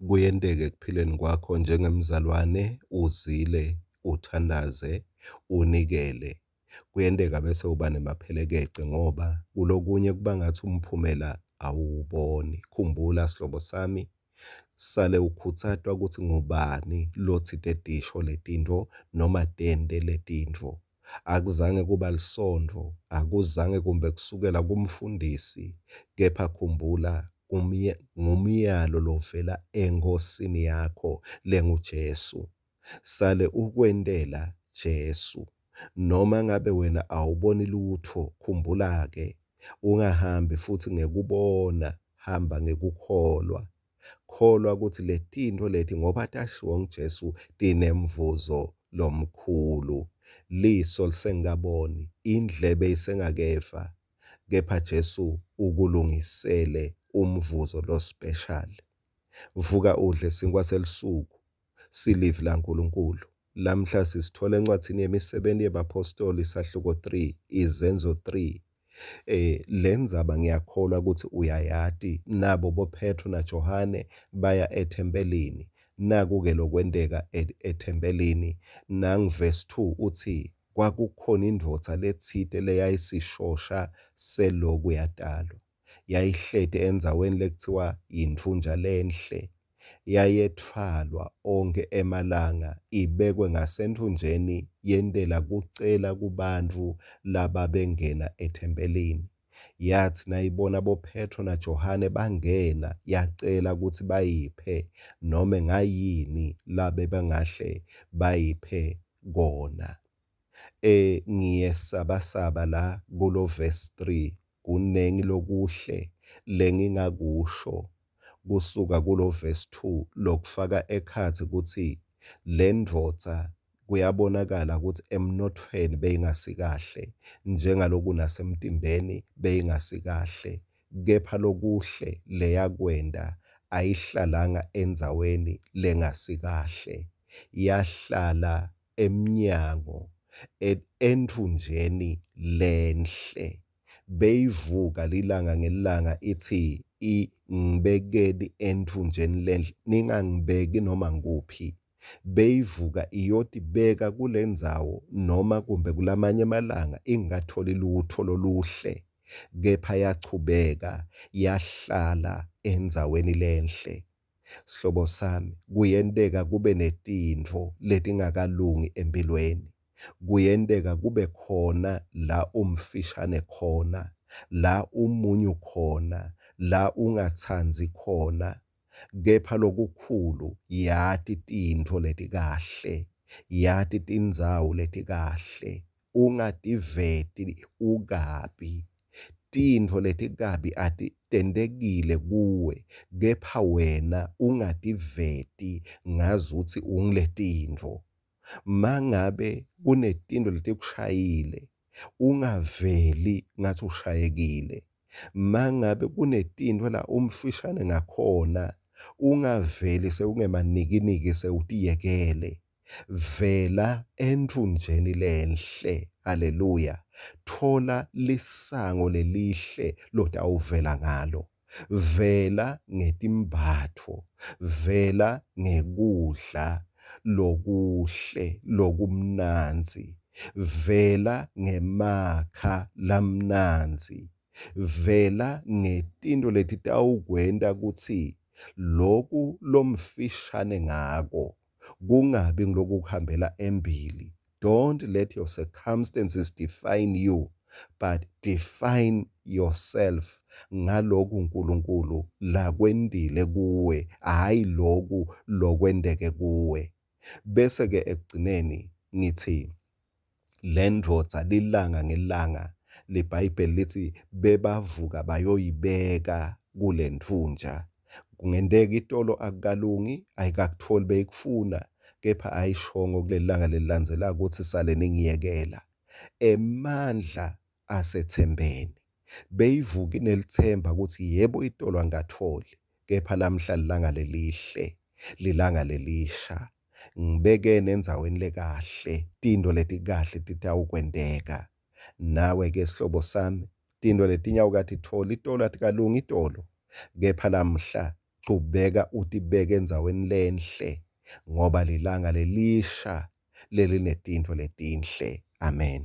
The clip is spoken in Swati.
Kuyenteka ekuphileni kwakho njengemzalwane uzile, uthandaze, unikele. Kuyenteka bese uba nemaphelekece ngoba kulokunye kuba ngathi umphumela awuwuboni. Khumbula sihlobo sami, sale ukhutsatwa ukuthi ngubani lotsite tisho letintfo noma tente letintfo. Akuzange kuba lisontfo, akuzange kumbe kusukela kumfundisi, kepha khumbula ngumyalo lovela eNkhosini yakho lenguJesu. Sale ukwentela Jesu. Noma ngabe wena awuboni lutfo, khumbula-ke, ungahambi futsi ngekubona, hamba ngekukholwa. Kholwa kutsi letintfo leti ngoba tashiwo nguJesu tinemvuzo lomkhulu. Liso lisengakaboni, indlebe isengakeva, kepha Jesu ukulungisele umvuzo lo-special. Vuka udle sinkwa selusuku, silivi laNkulunkulu. Lamhla sisithola encwadzini yemisebenti yebaphostoli sahluko 3, Izenzo 3. Lendzaba ngiyakholwa ukuthi uyayati, nabo boPhetro naJohane baya ethempelini. Naku-ke lokwenteka ethempelini. Nangu verse 2 uthi kwakukhona indvodza letsite leyayisishosha seloku yatalwa. Yayihleti endzaweni lekuthiwa yintfunja lenhle. Yayetfwalwa onkhe emalanga ibekwe ngasentfunjeni yentela kucela kubantfu lababengena ethempelini. Yatsi nayibona boPhetro naJohane bangena, yacela kutsi bayiphe nome ngayini labebangahle bayiphe kona. Ngiyesabasaba la kulo verse 3, kunengi lokuhle lengingakusho kusuka kulo verse 2 lokufaka ekhatsi kutsi lendvodza kuyabonakala kutsi emnothweni beyingasikahle, njengaloku nasemtimbeni beyingasikahle, kepha lokuhle leyakwenta ayihlalanga endzaweni lengasikahle, yahlala emnyango entfunjeni lenhle. Beyivuka lilanga ngelilanga itsi ngibekeni entfunjeni lenhle, ningangibeki noma ngikuphi. Beyivuka iyotibeka kulendzawo noma kumbe kulamanye emalanga ingatholi lutho loluhle, kepha yachubeka yahlala endzaweni lenhle. Sihlobo sami, kuyenteka kube netintfo letingakalungi empilweni. Kuyenteka kube khona la umfishane khona, la umunyu khona, la ungatsandzi khona, kepha lokukhulu yati tintfo letikahle, yati tindzawo letikahle, ungativeti ukabi. Tintfo letikabi atitentekile kuwe, kepha wena ungativeti ngazuthi unguletintfo. Mangabe kunetintfo letikushayile, ungaveli ngathi ushayekile. Mangabe kunetintfo la umfishane ngakhona, ungaveli sewungemanikiniki sewutiyekele. Vela entfunjeni lenhle, haleluya. Thola lisango lelihle lotawuvela ngalo. Vela ngetimbatfo, vela ngekudla lokuhle lokumnandzi, vela ngemakha lamnandzi, vela ngetintfo letitawukwenta kutsi loku lomfishane ngako kungabi ngulokukuhambela embili. Don't let your circumstances define you, but define yourself ngaloku uNkulunkulu lakwentile kuwe, hhayi loku lokwenteke kuwe. Bese-ke ekugcineni ngithi lendvodza lilanga ngelanga liBhayibheli lithi bebavuka bayoyibeka kulentfunja. Kungenteka itolo akukalungi, ayikakutholi beyikufuna, kepha ayishongo kulelilanga lelilandzelako ukuthi sale ningiyekela. Emandla asethembeni. Beyivuka inelithemba ukuthi yebo itolo angikatholi, kepha lamhla lilanga lelihle, lilanga lelisha. Ngibekene endzaweni lekahle, tintfo letikahle titawukwenteka. Nawe-ke sihlobo sami, tintfo letinye awukatitfoli, itolo atikalungi itolo, kepha lamhla Chubeka utibeke endzaweni lenhle ngoba lilanga lelisha lelinetintfo letinhle. Amen.